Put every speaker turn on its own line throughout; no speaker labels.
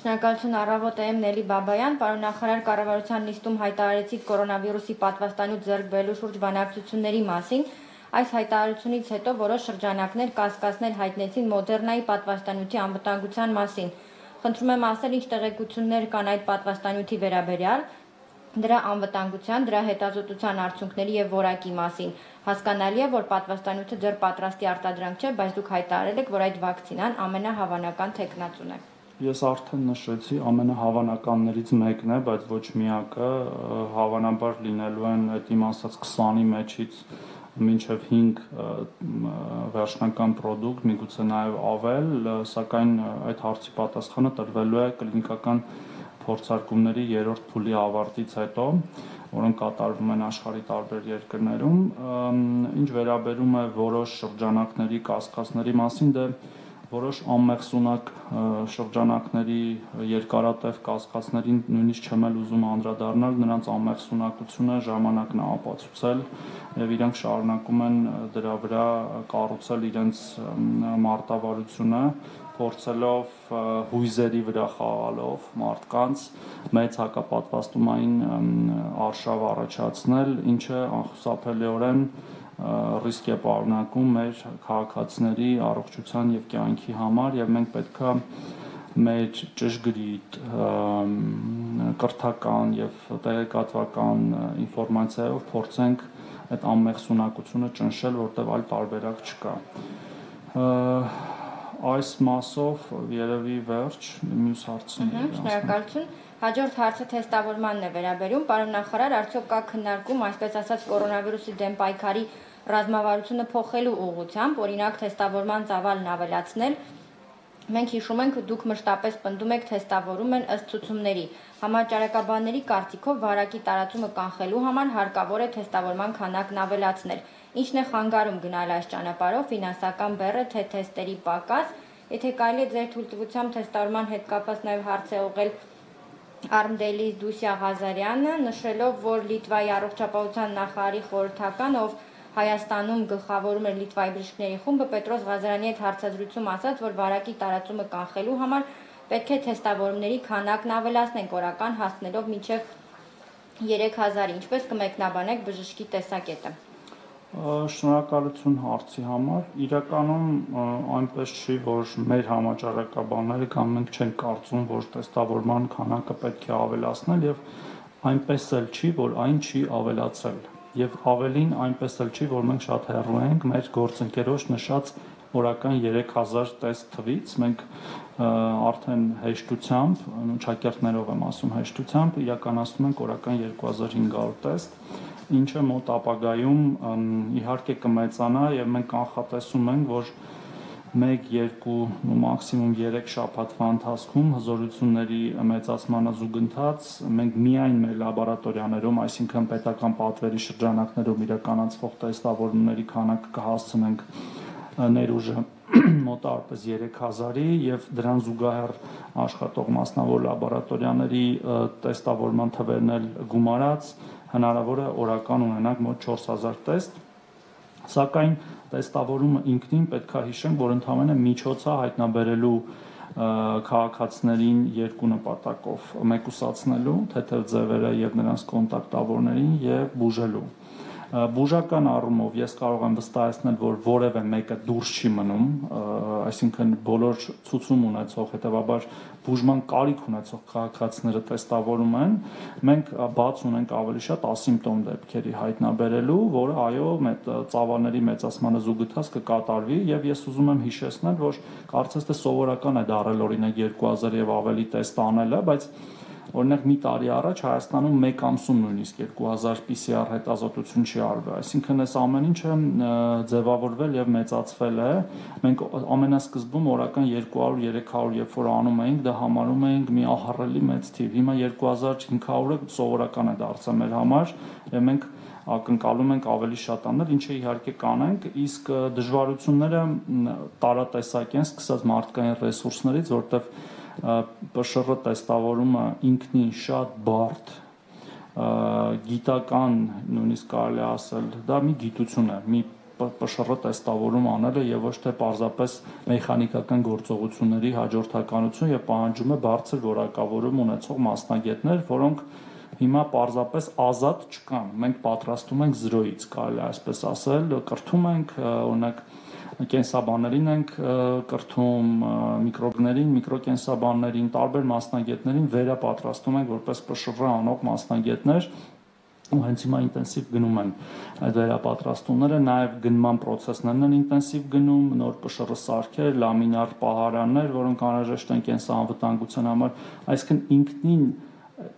Շնորհակալություն առավոտ եմ Նելի Բաբայան, պարոն նախարար, կառավարության նիստում հայտարարեցիք կորոնավիրուսի պատվաստանյութ ձեռք բերելու շուրջ բանակցությունների մասին։ Այս հայտարարությունից հետո որոշ շրջանակներ կասկածներ հայտնեցին Մոդեռնայի պատվաստանյութի անվտանգության մասին։ Խնդրում եմ ասել, ինչ տեղեկություններ կան այդ պատվաստանյութի վերաբերյալ, դրա անվտանգության, դրա հետազոտության արդյունքների եւ որակի մասին։ Հասկանալի է, որ պատվաստանյութը դեռ պատրաստի արտադրանք չէ, բայց դուք հայտարարել եք, որ այդ վակցինան ամենահավանական թեկնածուն է։
Ես արդեն նշեցի, ամենահավանականներից մեկն է, բայց ոչ միակը, հավանաբար լինելու են այդ իմ ասած 20-ի մեջից մինչև 5 վերջնական պրոդուկտ, միգուցե նաև ավել, սակայն այդ հարցի պատասխանը տրվելու է կլինիկական փորձարկումների 3-րդ փուլի ավարտից հետո, որոնք կատարվում են աշխարհի տարբեր երկրներում, ինչ վերաբերում է որոշ շրջանակների կասկածների մասին, որոշ անմեղսունակ շրջանակների երկարատև կասկածներին նույնիսկ չեմ ուզում անդրադառնալ, նրանց անմեղսունակությունը ժամանակն է ապացուցել եւ իրենք շարունակում են դրա վրա կառուցել իրենց մարտավարությունը, փորձելով հույզերի վրա խաղալով մարդկանց մեծ հակապատվաստումային արշավ առաջացնել, ինչը անխուսափելիորեն ռիսկ է պարունակում մեր քաղաքացիների առողջության եւ կյանքի համար եւ մենք պետքա մեր ճշգրիտ կրթական եւ տեղեկատվական ինֆորմացիայով փորձենք այդ անմեղսունակությունը ճնշել, որտեղ այլ տարբերակ չկա։ Այս մասով երևի վերջ մյուս հարցին։
Շնորհակալություն։ Հաջորդ հարցը թեստավորմանն է վերաբերում, պարոն նախարար, արդյոք կա քննարկում, այսպես ասած, կորոնավիրուսի դեմ պայքարի ռազմավարությունը փոխելու ուղղությամբ, օրինակ թեստավորման ծավալն ավելացնել։ Մենք հիշում ենք, դուք մշտապես պնդում եք թեստավորում են ըստ ցուցումների։ Համաճարակաբանների կարծիքով վարակի տարածումը կանխելու համար հարկավոր է թեստավորման քանակն ավելացնել։ Ինչն է խանգարում գնալ այս ճանապարհով, ֆինանսական բեռ է, թե թեստերի պակաս, եթե կարելի է ձեր թույլտվությամբ թեստավորման հետ կապված նաև հարց է ուղղել Արմդելիս Դուսյա Ղազարյանը, նշելով, որ Լիտվայի առողջապահության նախարարի խորհրդական, ով Հայաստանում գլխավորում էր Լիտվայի բժիշկների խումբը, Պետրոս Ղազարյանի հետ հարցազրույցում ասաց, որ վարակի տարածումը կանխելու համար պետք է թեստավորումների քանակն ավելացնենք, օրական հասնելով մինչև 3000, ինչպես կմեկնաբանեք բժշկի տեսակետը։
Շնորհակալություն հարցի համար։ Իրականում այնպես չի, որ մեր համաճարակաբանները կամ մենք չենք կարծում, որ թեստավորման քանակը պետք է ավելացնել եւ այնպես էլ չի, որ այն չի ավելացել։ Եվ ավելին այնպես էլ չի, որ մենք շատ հեռու ենք մեր գործընկերոջ նշած օրական 3000 տեստ թվից, մենք արդեն հեշտությամբ, շակերտներով եմ ասում հեշտությամբ, իրականացնում ենք օրական 2500 տեստ, ինչը մոտ ապագայում իհարկե կմեծանա եւ մենք կանխատեսում ենք, որ 1-2 մաքսիմում 3 շաբաթվա ընթացքում հզորությունների մեծացմանը զուգընթաց մենք միայն մեր լաբորատորիաներում, այսինքն պետական պատվերի շրջանակներում իրականացվող տեստավորումների քանակը կհասցնենք ներուժը մոտավորապես 3000-ի եւ դրան զուգահեռ աշխատող մասնավոր լաբորատորիաների տեստավորման թվերն էլ գումարած հնարավոր է օրական ունենանք մոտ 4000 տեստ, սակայն տեստավորումը ինքնին պետք է հիշենք, որ ընդհանրապես միջոց է հայտնաբերելու քաղաքացիներին երկու նպատակով՝ մեկուսացնելու թեթև ձևերը եւ նրանց կոնտակտավորներին եւ բուժելու։ Բուժական առումով ես կարող եմ վստահեցնել, որ որևէ մեկը դուրս չի մնում, այսինքն բոլոր ցուցում ունեցող, հետեւաբար բուժման կարիք ունեցող քաղաքացիները տեստավորում են, մենք բաց ունենք ավելի շատ ասիմպտոմ դեպքերի հայտնաբերելու, որը այո, ծավալների մեծացմանը զուգընթաց կկատարվի եւ ես ուզում եմ հիշեցնել, որ կարծես թե սովորական է դառել օրինակ 2000 եւ ավելի տեստ անելը, բայց օրինակ մի տարի առաջ Հայաստանում մեկ ամսում նույնիսկ 2000 PCR հետազոտություն չի արվել, այսինքն այս ամեն ինչը ձևավորվել եւ մեծացվել է։ Մենք ամենասկզբում օրական 200-300 երբ որ անում էինք, դա համարում էինք մի ահռելի մեծ թիվ։ Հիմա 2500-ը սովորական է դարձել մեր համար եւ մենք ակնկալում ենք ավելի շատ անել, ինչը իհարկե կանենք, իսկ դժվարությունները տարատեսակ են, սկսած մարդկային ռեսուրսներից, որտեղ ՊՇՌ տեստավորումը ինքնին շատ բարդ գիտական, նույնիսկ կարելի ասել, դա մի գիտություն է, մի ՊՇՌ տեստավորում անելը եւ ոչ թե պարզապես մեխանիկական գործողությունների հաջորդականություն եւ պահանջում է բարձր որակավորում ունեցող մասնագետներ, որոնք հիմա պարզապես ազատ չկան։ Մենք պատրաստում ենք 0-ից, կարելի է այսպես ասել, կրթում ենք, օրինակ կենսաբաններին ենք կրթում, միկրոբներին, միկրոկենսաբաններին, տարբեր մասնագետներին վերապատրաստում ենք որպես ՊՇՌ անող մասնագետներ, ու հենց հիմա ինտենսիվ գնում են այդ վերապատրաստումները, նաև գնման պրոցեսներն են ինտենսիվ գնում, նոր ՊՇՌ սարքեր, լամինար պահարաններ, որոնք անհրաժեշտ են կենսանվտանգության համար, այսինքն ինքնին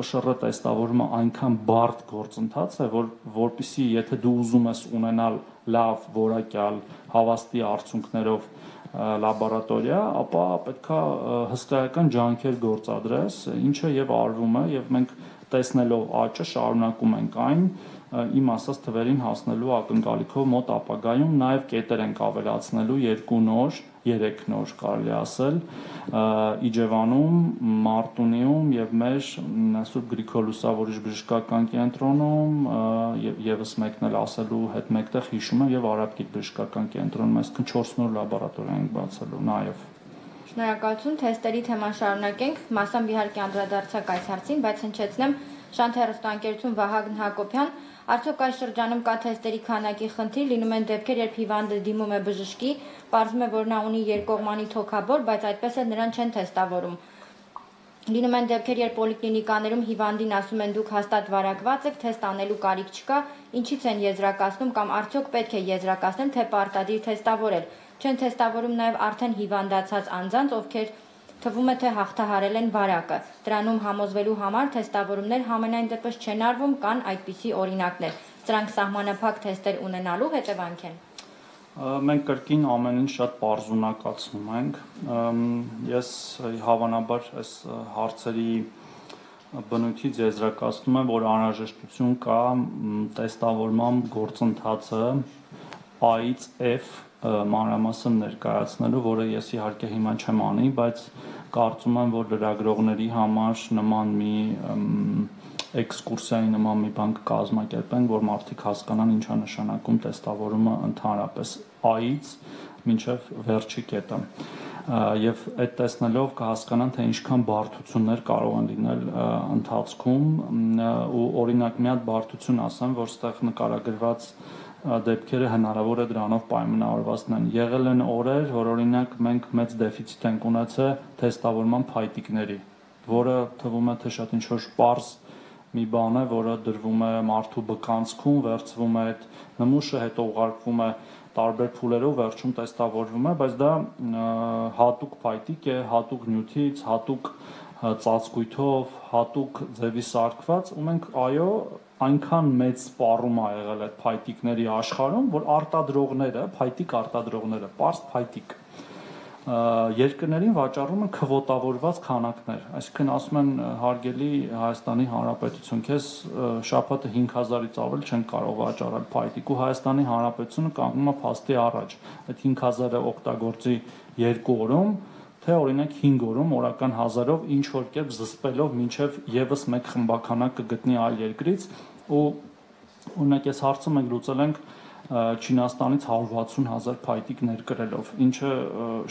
ՊՇՌ տեստավորումը այնքան բարդ գործընթաց է, որպեսզի եթե դու ուզում ես ունենալ լավ, որակյալ, հավաստի արդյունքներով լաբորատորիա, ապա պետքա հսկայական ջանքեր գործադրես, ինչը եւ արվում է, եւ մենք տեսնելով աճը շարունակում ենք այն իմ ասած թվերին հասնելու ակնկալիքով մոտ ապագայում նաև կետեր ենք ավելացնելու 2 նոր, 3 նոր կարելի ասել Իջևանում, Մարտունիում եւ մեր Սուրբ Գրիգոր Լուսավորիչ բժշկական կենտրոնում եւ եւս մեկն էլ ասելու հետ մեկտեղ հիշում եմ եւ Արաբկիր բժշկական կենտրոնում, այսինքն 4 նոր լաբորատորիա ենք բացելու նաեւ։
Շնորհակալություն, թեստերի թեման շարունակենք, մասամբ իհարկե անդրադարձակ այս հարցին, բայց հնչեցնեմ Շանթ հեռուստաընկերություն Վահագն Հակոբյան, արդյոք այս շրջանում կա թեստերի քանակի խնդիր, լինում են դեպքեր, երբ հիվանդը դիմում է բժշկի, պարզվում է, որ նա ունի երկկողմանի թոքաբոր, բայց այդպես էլ նրան չեն թեստավորում։ Լինում են դեպքեր, երբ պոլիկլինիկաներում հիվանդին ասում են դուք հաստատ վարակված եք, թեստ անելու կարիք չկա, ինչից են եզրակացնում կամ արդյոք պետք է եզրակացնել, թե պարտադիր թեստավորել։ Չեն թեստավորում նաև արդեն հիվանդացած անձանց, ովքեր թվում է թե հաղթահարել են վարակը։ Դրանում համոզվելու համար թեստավորումներ համենայն դեպս չեն արվում, կան այդպիսի օրինակներ։ Սրանք սահմանափակ թեստեր ունենալու հետևանք են։
Մենք կրկին ամեն ինչ շատ պարզունակացնում ենք։ Ես հավանաբար այս հարցերի բնույթից եզրակացնում եմ, որ անհրաժեշտություն կա տեստավորման գործընթացը A-ից F մանրամասն ներկայացնելու, որը ես իհարկե հիմա չեմ անի, բայց կարծում եմ, որ լրագրողների համար նման մի էքսկուրսիայի նման մի բան կկազմակերպենք, որ մարդիկ հասկանան ինչ է նշանակում տեստավորումը ընդհանրապես A-ից մինչև վերջի կետը։ Եվ այդ տեսնելով կհասկանան, թե ինչքան բարդություններ կարող են լինել ընթացքում, ու օրինակ մի հատ բարդություն ասեմ, որ ստեղ նկարագրված դեպքերը հնարավոր է դրանով պայմանավորված լինեն։ Եղել են օրեր, որ օրինակ մենք մեծ դեֆիցիտ ենք ունեցել թեստավորման փայտիկների, որը թվում է թե շատ ինչ-որ պարզ մի բան է, որը դրվում է մարդու բկանցքում, վերցվում է այդ նմուշը, հետո ուղարկվում է տարբեր փուլերով, վերջում տեստավորվում է, բայց դա հատուկ փայտիկ է, հատուկ նյութից, հատուկ ծածկույթով, հատուկ ձևի սարքված, ու մենք այո այնքան մեծ սպառում ա եղել այդ փայտիկների աշխարհում, որ արտադրողները, փայտիկ արտադրողները, պարզ փայտիկ երկրներին վաճառում են քվոտավորված քանակներ, այսինքն ասում են հարգելի Հայաստանի Հանրապետություն, քեզ շաբաթը 5000-ից ավել չեն կարող վաճառել փայտիկ, ու Հայաստանի Հանրապետությունը կանգնում է փաստի առաջ, այդ 5000-ը օգտագործի 2 օրում, թե օրինակ 5 օրում օրական 1000-ով ինչ որ կերպ զսպելով մինչև եւս մեկ խմբականակ կգտնի այլ երկրից, ու օրինակ այս հարցը մենք լուծել ենք Չինաստանից 160,000 փայտիկ ներկրելով, ինչը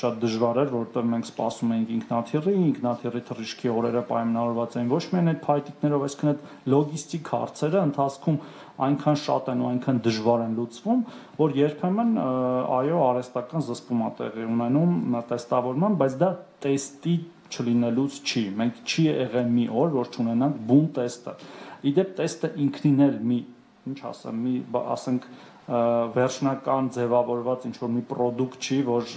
շատ դժվար էր, որովհետև մենք սպասում էինք ինքնաթիռի թռիչքի օրերը պայմանավորված էին ոչ միայն այդ փայտիկներով, այսինքն այդ լոգիստիկ հարցերը ընթացքում այնքան շատ են ու այնքան դժվար են լուծվում, որ երբեմն այո արհեստական զսպում է տեղի ունենում տեստավորման, բայց դա տեստի չլինելուց չի։ Մենք չի եղել մի օր, որ չունենանք բուն տեստը։ Իդեպ տեստը ինքնին էլ մի, ինչ ասեմ, ասենք վերջնական ձևավորված ինչ-որ մի պրոդուկտ չի, որ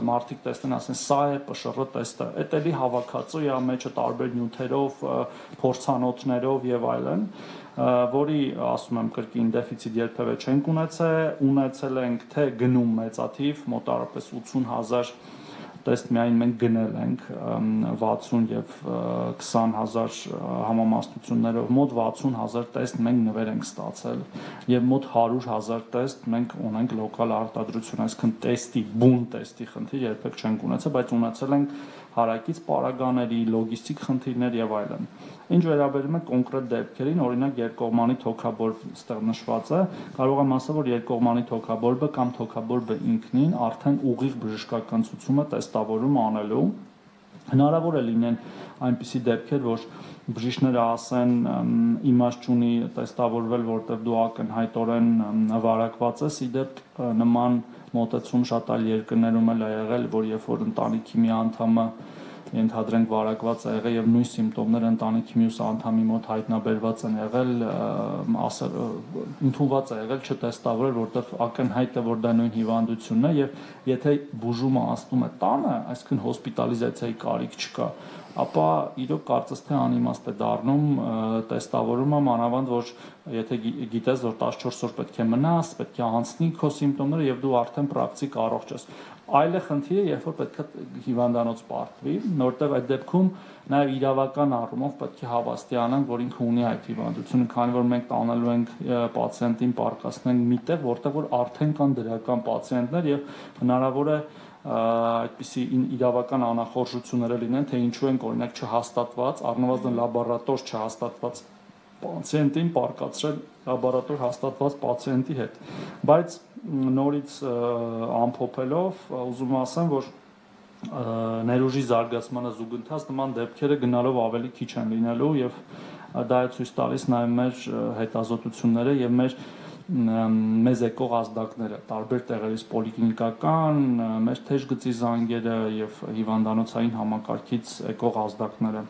մարդիկ տեսնեն, ասեն, սա է ՊՇՌ տեստը, էդ էլի հավաքածու է, մեջը տարբեր նյութերով, փորձանոթներով եւ այլն, որի, ասում եմ, կրկին դեֆիցիտ երբևէ չենք ունեցել ենք թե գնում մեծաթիվ, մոտարապես 80,000 տեստ միայն մենք գնել ենք 60 եւ 20,000 համամասնություններով, մոտ 60,000 տեստ մենք նվեր ենք ստացել եւ մոտ 100,000 տեստ մենք ունենք լոկալ արտադրություն, այսինքն տեստի, բուն տեստի խնդիր երբեք չենք ունեցել, բայց ունեցել ենք հարակից պարագաների, լոգիստիկ խնդիրներ եւ այլն։ Ինչ վերաբերում է կոնկրետ դեպքերին, օրինակ երկկողմանի թոքաբորբ ստեղ նշված է, կարող եմ ասել, որ երկկողմանի թոքաբորբը կամ թոքաբորբը ինքնին արդեն ուղիղ բժշկական ցուցում է տեստավորում անելու։ Հնարավոր է լինեն այնպիսի դեպքեր, որ բժիշկները ասեն իմաստ չունի տեստավորվել, որտեղ դու ակնհայտորեն վարակված ես, իդեպ նման մոտեցում շատ այլ երկրներում էլ է եղել, որ երբ որ ընտանիքի մի անդամը ենթադրենք վարակված է եղել եւ նույն սիմպտոմները ընտանիքի մյուս անդամի մոտ հայտնաբերված են եղել, ընդունված է եղել չտեստավորել, որտեղ ակնհայտ է, որ դա նույն հիվանդությունն է եւ եթե բուժումը անցնում է տանը, այսինքն հոսպիտալիզացիայի կարիք չկա, ապա իրոք կարծես թե անիմաստ է դառնում տեստավորումը, մանավանդ որ եթե գիտես, որ 14 օր պետք է մնաս, պետք է անցնի քո սիմպտոմները եւ դու արդեն պրակտիկ առողջ ես։ Այլ է խնդիրը, երբ որ պետք է հիվանդանոց պարտվի, որտեղ այդ դեպքում նաեւ իրավական առումով պետք է հավաստիանանք, որ ինքը ունի այդ հիվանդությունը, քանի որ մենք տանելու ենք պացիենտին պարկասնենք միտեղ, որտեղ որ արդեն կան դրական պացիենտներ եւ հնարավոր է այդպիսի իրավական անախորժություններ լինեն, թե ինչու են օրինակ չհաստատված, առնվազն լաբորատոր չհաստատված պացիենտին պարկացրել լաբորատոր հաստատված պացիենտի հետ։ Բայց նորից ամփոփելով ուզում ասեմ, որ ներուժի զարգացմանը զուգընթաց նման դեպքերը գնալով ավելի քիչ են լինելու եւ դա է ցույց տալիս նաեւ մեր հետազոտությունները եւ մեզ եկող ազդակները տարբեր տեղերից պոլիկլինիկական, մեր թեժ գծի զանգերը եւ հիվանդանոցային համակարգից եկող ազդակները